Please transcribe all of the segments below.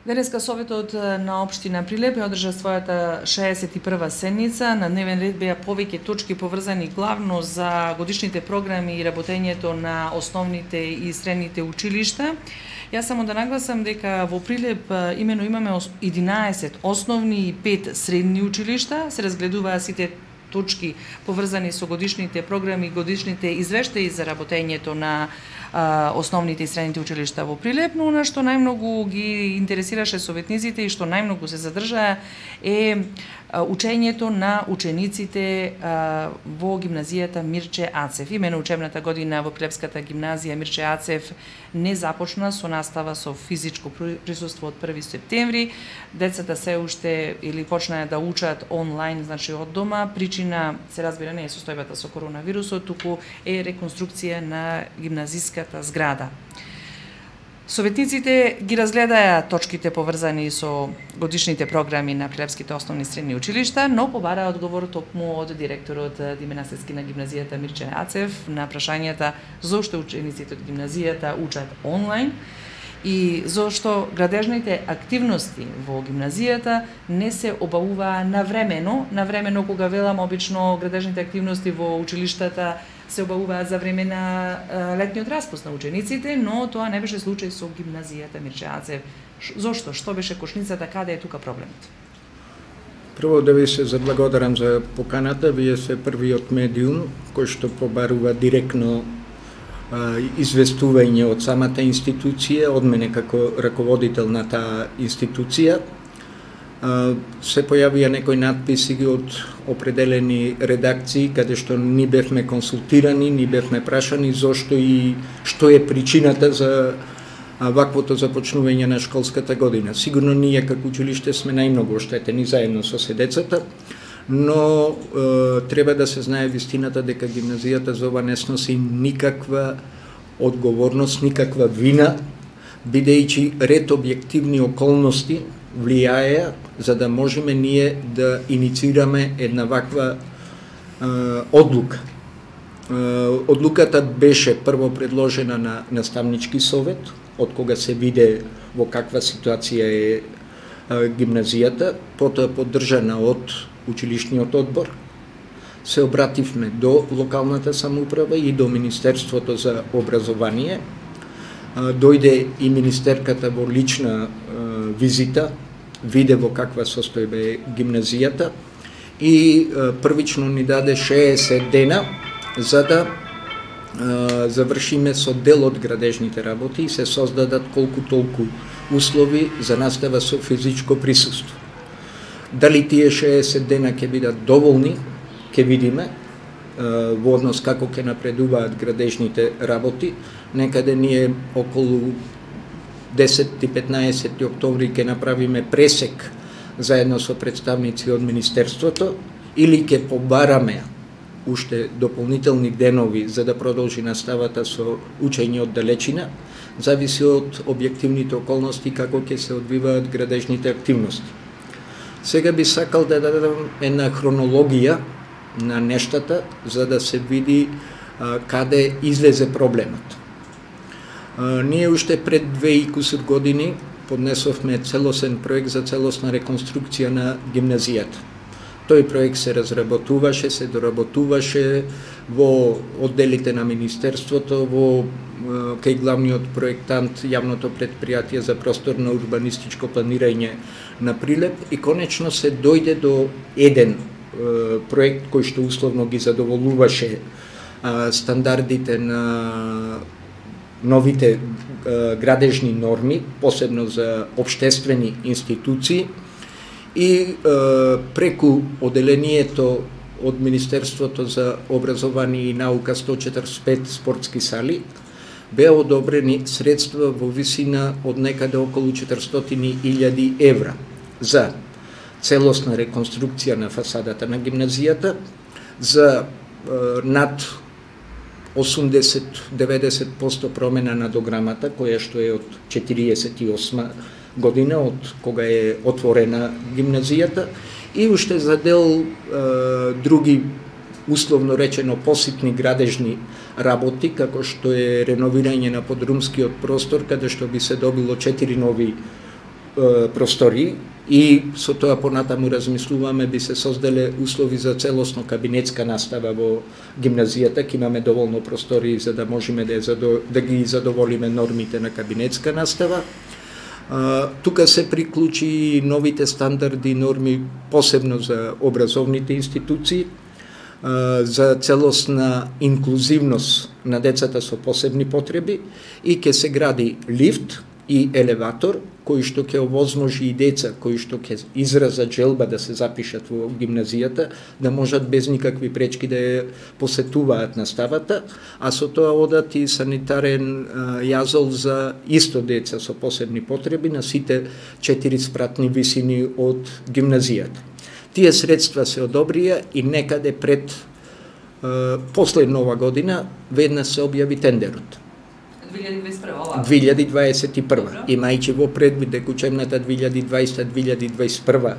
Денеска Советот на општина Прилеп ја одржа својата 61-ва седница. На дневен ред беа повеќе точки поврзани главно за годишните програми и работењето на основните и средните училишта. Јас само да нагласам дека во Прилеп имено имаме 11 основни и 5 средни училишта. Се разгледуваа сите точки поврзани со годишните програми, годишните извештаи за работењето на основните и средните училишта во Прилеп, но она што најмногу ги интересираше советниците и што најмногу се задржаа е учењето на учениците во гимназијата Мирче Ацев. Имено учебната година во Прилепската гимназија Мирче Ацев не започна со настава со физичко присуство од 1 септември. Децата се уште или почнаа да учат онлайн, значи од дома. Причина се разбира не е состојбата со коронавирусот, туку е реконструкција на гимназиската зграда. Советниците ги разгледаа точките поврзани со годишните програми на Прилепските основни и средни училишта, но побараа одговор токму од директорот Диме Наследски на гимназијата Мирче Ацев на прашањата зошто учениците од гимназијата учат онлайн и зошто градежните активности во гимназијата не се обавуваа навремено кога велам обично градежните активности во училиштата се обавуваат за време на летниот распуст на учениците, но тоа не беше случај со гимназијата Мирче Ацев. Зошто? Што беше кошницата? Каде е тука проблемот? Прво да ви се заблагодарам за поканата. Вие сте првиот медиум кој што побарува директно известување од самата институција, од мене како раководител на таа институција. Се појавија некои надписи од определени редакции каде што ни бевме консултирани, ни бевме прашани зошто и што е причината за ваквото започнување на школската година. Сигурно ние како училиште сме најмногу оштетени заедно со децата, но треба да се знае вистината дека гимназијата за ова не сноси никаква одговорност, никаква вина, бидејќи ред објективни околности влијаеа за да можеме ние да иницираме една ваква одлука. Одлуката беше прво предложена на наставнички совет, од кога се виде во каква ситуација е гимназијата, потоа поддржана од училишниот одбор. Се обративме до локалната самоуправа и до Министерството за образование. Дојде и министерката во лична визита, виде во каква состојба е гимназијата и првично ни даде 60 дена за да завршиме со дел од градежните работи и се создадат колку толку услови за настава со физичко присуство. Дали тие 60 дена ќе бидат доволни, ќе видиме во однос како ќе напредуваат градежните работи. Некаде ние околу 10 и 15 октомври ќе направиме пресек заедно со представници од Министерството или ќе побараме уште дополнителни денови за да продолжи наставата со учење од далечина, зависи од објективните околности како ќе се одвиваат градежните активности. Сега би сакал да дадам една хронологија на нештата за да се види каде излезе проблемот. Ние уште пред 2 и кусур години поднесовме целосен проект за целосна реконструкција на гимназијата. Тој проект се разработуваше, се доработуваше во одделите на Министерството, во кај главниот проектант јавното предпријатие за просторно урбанистичко планирање на Прилеп и конечно се дојде до еден проект кој што условно ги задоволуваше стандардите на новите градежни норми, посебно за општествени институции и преку оделението од Министерството за образование и наука 145 спортски сали беа одобрени средства во висина од некаде околу 400.000 евра за целосна реконструкција на фасадата на гимназијата, за над 80-90% промена на дограмата, која што е од 48 година, од кога е отворена гимназијата, и уште за дел други, условно речено, поситни градежни работи, како што е реновирање на подрумскиот простор, каде што би се добило 4 нови простори и со тоа понатаму размислуваме би се созделе услови за целосно кабинетска настава во гимназијата, ке имаме доволно простори за да можеме да ги задоволиме нормите на кабинетска настава. Тука се приклучи новите стандарди и норми посебно за образовните институции, за целосна инклузивност на децата со посебни потреби и ќе се гради лифт и елеватор кои што ќе овозможи и деца кои што ќе изразат желба да се запишат во гимназијата да можат без никакви пречки да ја посетуваат наставата, а со тоа одат и санитарен јазол за исто деца со посебни потреби на сите 4 спратни висини од гимназијата. Тие средства се одобрија и некаде пред после нова година веднаш се објави тендерот. 2021. Имајќи во предвид дека учебната 2020-2021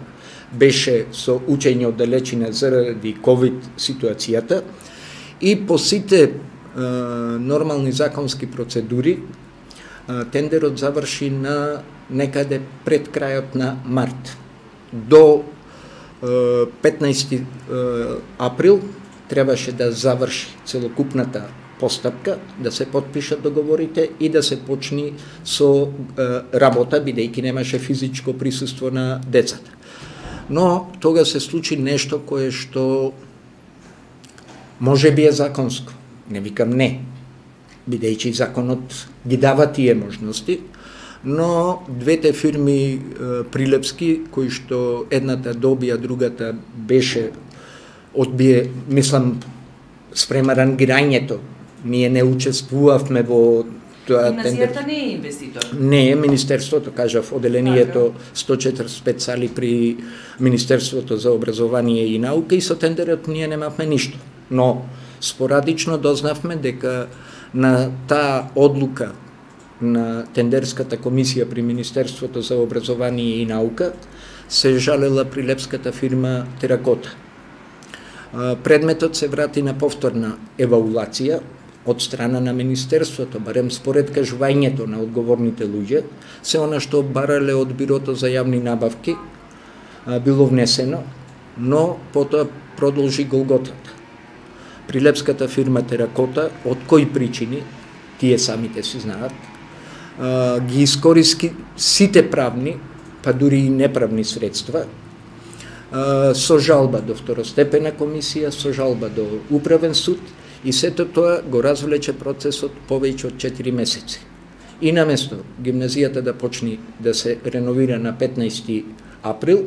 беше со учење од далечина заради ковид ситуацијата и по сите нормални законски процедури тендерот заврши на некаде пред крајот на март. До 15 април требаше да заврши целокупната постапка, да се потпишат договорите и да се почни со работа, бидејќи немаше физичко присуство на децата. Но тога се случи нешто кое што може би е законско. Не викам не, бидејќи законот ги дава тие можности, но двете фирми прилепски, кои што едната добија, другата беше одбие, мислам, спрема рангирањето. Ние не учествувавме во тоа тендер. Гимназијата не е инвеститор. Не е Министерството, кажав, оделението 145 сали при Министерството за образование и наука и со тендерот ние немавме ништо. Но спорадично дознавме дека на таа одлука на тендерската комисија при Министерството за образование и наука се жалела прилепската фирма Теракота. Предметот се врати на повторна евалуација од страна на Министерството, барем според кажувањето на одговорните луѓе, се она што барале од Бирото за јавни набавки било внесено, но потоа продолжи голготата. Прилепската фирма Теракота, од кои причини, тие самите си знаат, ги искориски сите правни, па дури и неправни средства, со жалба до второстепена комисија, со жалба до управен суд и сето тоа го развлече процесот повеќе од 4 месеци. И наместо гимназијата да почне да се реновира на 15 април,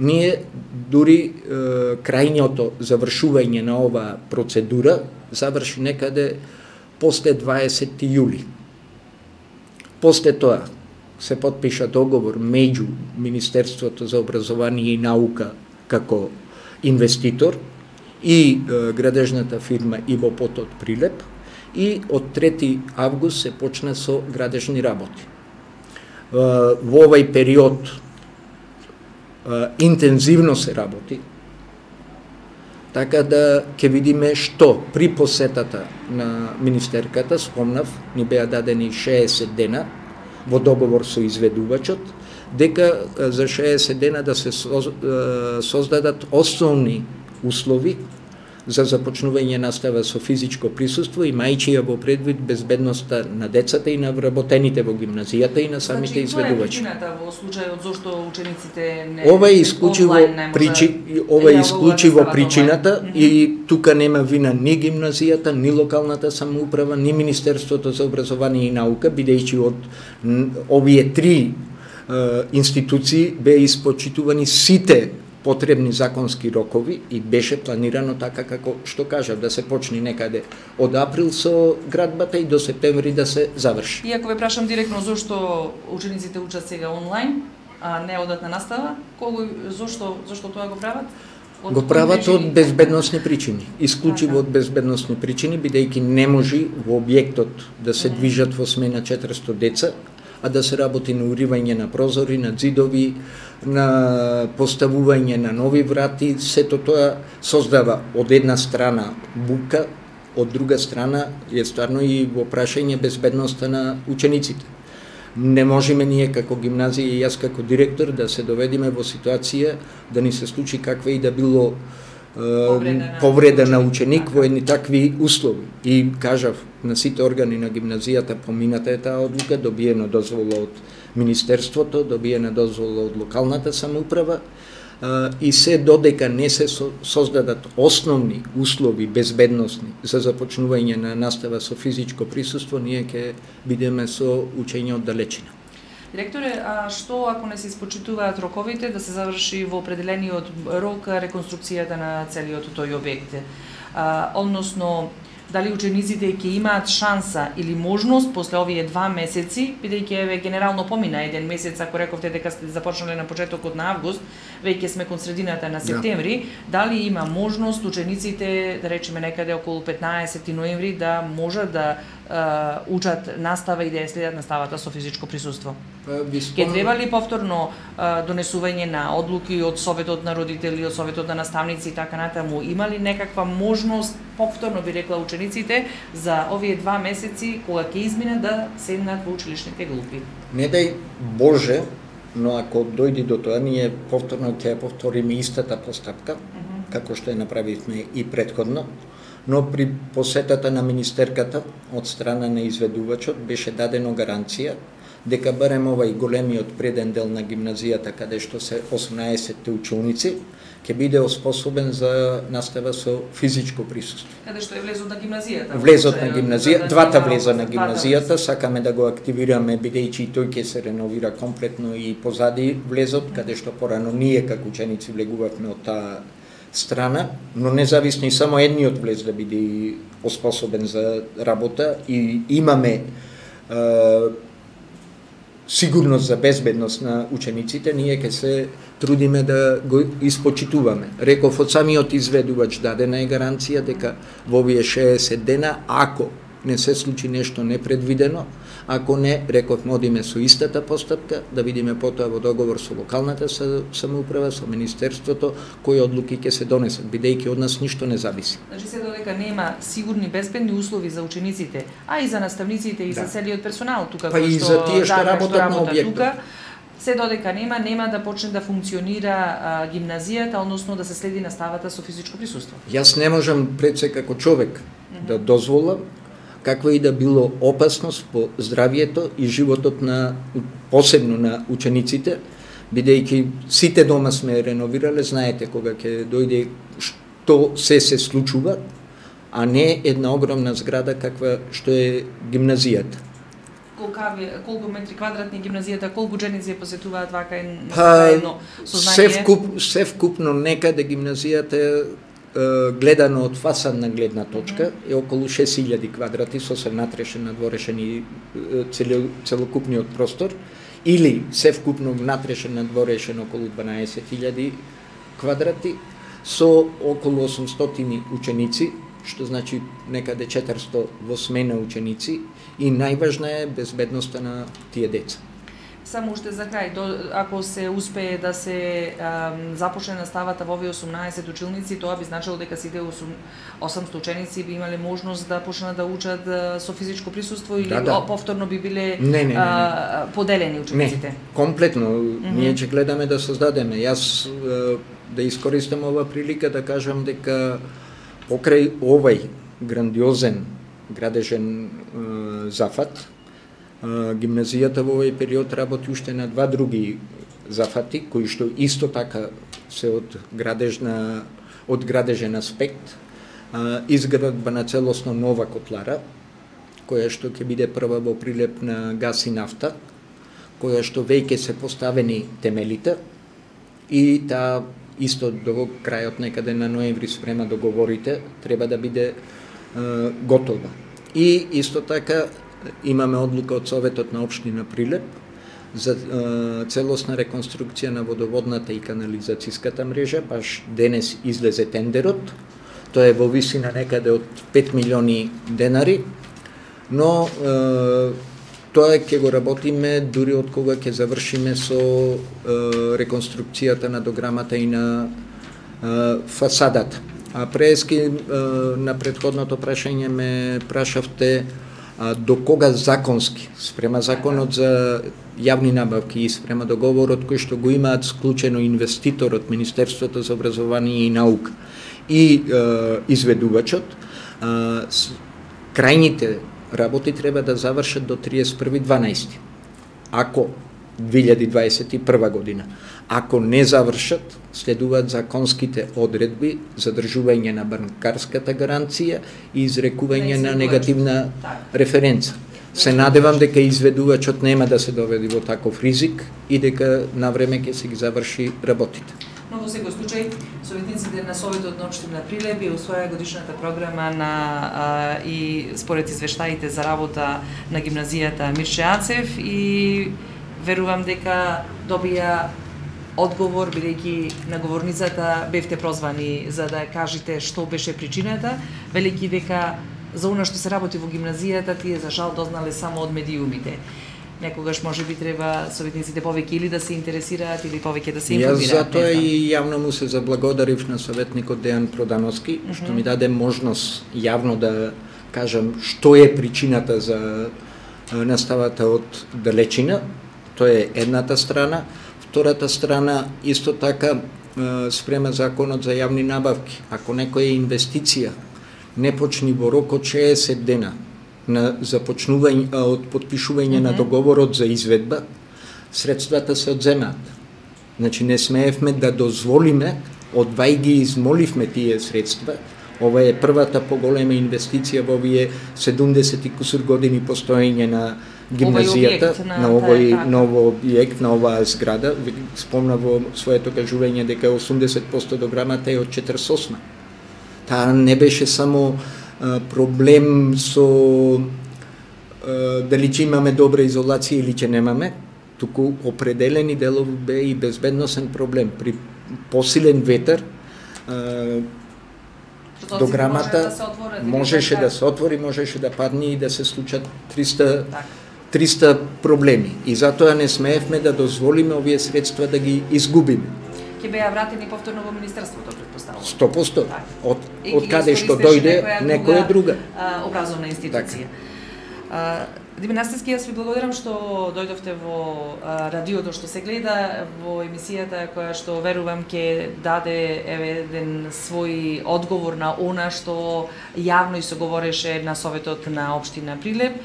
ние дури крајното завршување на оваа процедура заврши некаде после 20 јули. После тоа се потпиша договор меѓу Министерството за образование и наука како инвеститор и градежната фирма Иво Потот Прилеп и од 3 август се почна со градежни работи. Во овај период интензивно се работи, така да ќе видиме што при посетата на министерката, спомнав, ни беа дадени 60 дена во договор со изведувачот, дека за 60 дена да се создадат основни услови за започнување настава со физичко присуство, имајќи ја во предвид безбедноста на децата и на вработените во гимназијата и на самите изведувачи. Која е причината во случајот зошто учениците не ова е исклучиво причината и тука нема вина ни гимназијата, ни локалната самоуправа, ни Министерството за образование и наука, бидејќи од овие 3 институции беа испочитувани сите потребни законски рокови и беше планирано така како што кажав, да се почне некаде од април со градбата и до септември да се заврши. И ако ве прашам директно зошто учениците учат сега онлайн, а не одат на настава, зошто тоа го прават? Го прават од безбедносни причини, исклучиво од безбедносни причини, бидејќи не може во објектот да се движат во смена 400 деца, а да се работи на уривање на прозори, на ѕидови, на поставување на нови врати, сето тоа создава од една страна бука, од друга страна е стварно и во прашање безбедноста на учениците. Не можеме ние како гимназија и јас како директор да се доведеме во ситуација да ни се случи каква и да било повреда на ученик во едни такви услови. И кажав на сите органи на гимназијата, помината е таа одлука, добиена дозвола од Министерството, добиена дозвола од локалната самоуправа, и се додека не се создадат основни услови безбедносни за започнување на настава со физичко присуство, ние ќе бидеме со учење од далечина. Директоре, а што ако не се испочитуваат роковите да се заврши во определениот рок реконструкцијата на целиот тој објект? Односно, дали учениците ќе имаат шанса или можност после овие 2 месеци, бидејќи еве генерално помина 1 месец, ако рековте дека сте започнале на почетокот на август, веќе сме кон средината на септември, дали има можност учениците, да речеме некаде околу 15 ноември, да можат да учат настава и да ја следат наставата со физичко присуство? Ке треба ли повторно донесување на одлуки од Советот на родители, од Советот на наставници и така натаму? Има ли некаква можност, повторно би рекла учениците, за овие 2 месеци кога ќе изминат да седнат во училишните групи? Не дај Боже, но ако дојде до тоа, ние повторно ќе повториме истата постапка, како што ја направивме и претходно, но при посетата на министерката од страна на изведувачот беше дадено гаранција дека барем овај големиот преден дел на гимназијата, каде што се 18 ученици, ќе биде оспособен за настава со физичко присуство. Каде што е влезот на гимназијата? Влезот на гимназијата, двата влеза на гимназијата, сакаме да го активираме, бидејќи и тој ќе се реновира комплетно и позади влезот, каде што порано ние како ученици влегувавме од таа страна, но независно и само едниот влез да биде оспособен за работа и имаме сигурност за безбедност на учениците, ние ќе се трудиме да го испочитуваме. Реков од самиот изведувач дадена е гаранција дека во овие 60 дена, ако не се случи нешто непредвидено, ако не, реков, одиме со истата постапка, да видиме потоа во договор со локалната самоуправа, со Министерството, кои одлуки ќе се донесат, бидејќи од нас ништо не зависи. Значи се додека нема сигурни безбедни услови за учениците, а и за наставниците и за целиот персонал тука, па и за тие што работат на објектот. Се додека нема да почне да функционира гимназијата, односно да се следи наставата со физичко присуство. Јас не можам пред се како човек да дозволам каква и да било опасност по здравието и животот на посебно на учениците, бидејќи сите дома сме реновирале, знаете кога ќе дојде што се случува, а не една огромна зграда каква што е гимназијата. Колку метри квадратни гимназијата, колку ученици ја посетуваат вака едно сознание? Се вкупно некаде гимназијата гледано од фасадна гледна точка е околу 6000 квадрати со се натрешен, надворешен и целокупниот простор, или се вкупно натрешен, надворешен околу 12000 квадрати со околу 800 ученици, што значи некаде 400 во смена ученици, и најважна е безбедноста на тие деца. Само уште за крај, ако се успее да се започне наставата во овие 18 училници, тоа би значило дека сите 800 ученици би имале можност да почнат да учат со физичко присуство или повторно би биле поделени учениците? Не, комплетно. Ние ќе гледаме да создадеме. Јас да искористам ова прилика да кажам дека покрај овај грандиозен градежен зафат, гимназијата во овој период работи уште на 2 други зафати, кои што исто така се од градежен аспект. Изградба на целосно нова котлара, која што ќе биде прва во прилеп на газ и нафта, која што веќе се поставени темелите, и таа исто до крајот некаде на ноември спрема договорите треба да биде готова. И исто така имаме одлука од Советот на општина Прилеп за целосна реконструкција на водоводната и канализацијската мрежа. Баш денес излезе тендерот. Тоа е во висина некаде од 5 милиони денари, но тоа ќе го работиме дури од кога ќе завршиме со реконструкцијата на дограмата и на фасадата. А прески на претходното прашање ме прашавте до кога законски, спрема законот за јавни набавки и спрема договорот кој што го имаат склучено инвеститорот, Министерството за образование и наука и изведувачот, крајните работи треба да завршат до 31.12. Ако 2021 година. Ако не завршат, следуваат законските одредби за држување на банкарската гаранција и изрекување на негативна референца. Се надевам дека изведувачот нема да се доведе во таков ризик и дека на време ќе се ги заврши работите. Но во секој случај, советниците на Советот на општина Прилеп ја усвоја годишната програма на и според извештаите за работа на гимназијата Мирче Ацев и верувам дека добија одговор, бидејќи на говорницата бевте прозвани за да кажете што беше причината, велики дека за она што се работи во гимназијата тие за жал дознале само од медиумите. Некогаш можеби треба советниците повеќе или да се интересираат или повеќе да се информираат. Јас затоа и јавно му се заблагодарив на советникот Дејан Продановски, што ми даде можност јавно да кажам што е причината за наставата од далечина. Тоа е едната страна. Втората страна, исто така, спрема законот за јавни набавки. Ако некоја инвестиција не почни во рок од 60 дена на започнување од подпишување на договорот за изведба, средствата се одземаат. Значи не смеевме да дозволиме, одвај ги измоливме тие средства. Ова е првата поголема инвестиција во овие 70 и кусур години постоење на гимназијата, на овој ново објект, на оваа зграда. Спомна во своето кажување дека 80% до грамата е од 48. Таа не беше само проблем со дали ќе имаме добра изолација или ќе немаме, туку определени делови бе и безбедносен проблем. При посилен ветер до грамата можеше да се отвори, можеше да падне и да се случат 300 проблеми. И затоа не смеевме да дозволиме овие средства да ги изгубиме. Ќе беа вратени повторно во Министерството, претпоставувам. 100%. Од каде што дојде некоја друга образовна институција. Димитар Настевски, јас ви благодарам што дојдовте во радиото што се гледа, во емисијата која што верувам ќе даде еден свој одговор на она што јавно и се говореше на Советот на општина Прилеп.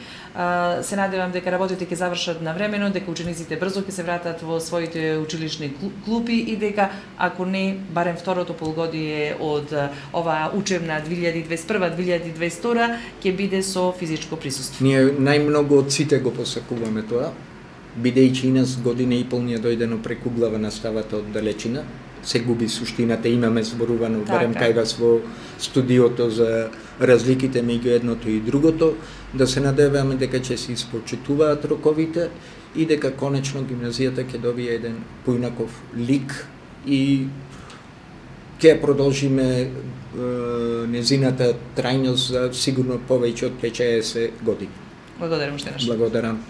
Се надевам дека работите ќе завршат навремено, дека учениците брзо ќе се вратат во своите училишни клупи и дека, ако не, барем второто полугодие од оваа учебна 2021-2022 ќе биде со физичко присуство. Ние најмногу од сите го посакуваме тоа, бидејќи и нас година и пол ни е дојдено преку глава наставата од далечина, се губи суштината, имаме зборувано барем кај вас во студиото за разликите меѓу едното и другото, да се надеваме дека ќе се испочитуваат роковите и дека конечно гимназијата ќе добие еден поинаков лик и ќе продолжиме незината трајност за сигурно повеќе од 50 години. Благодарам уште нешто. Благодарам.